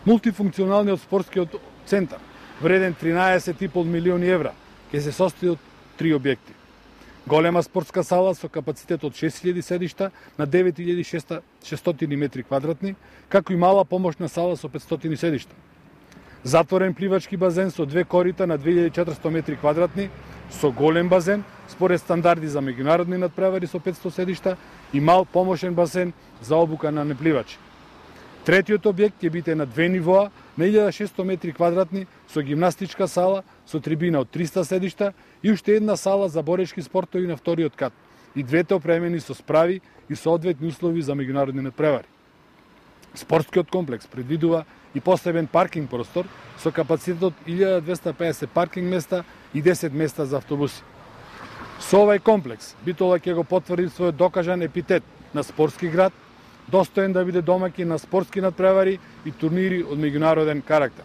Мултифункционалниот спортскиот центар, вреден 13,5 милиони евра, ќе се состои од 3 објекти. Голема спортска сала со капацитет од 6000 седишта на 9600 метри квадратни, како и мала помошна сала со 500 седишта. Затворен пливачки базен со 2 корита на 2400 метри квадратни, со голем базен, според стандарди за меѓународни надпревари со 500 седишта и мал помошен базен за обука на непливачи. Третиот објект ќе биде на 2 нивоа, на 1600 метри квадратни, со гимнастичка сала, со трибина од 300 седишта и уште една сала за борешки спортови на вториот кат. И двете опремени со справи и соодветни услови за меѓународни надпревари. Спортскиот комплекс предвидува и посебен паркинг простор со капацитет од 1250 паркинг места и 10 места за автобуси. Со овај комплекс Битола ќе го потврди својот докажан епитет на спортски град, достоен да биде домаќин на спортски надпревари и турнири од меѓународен карактер.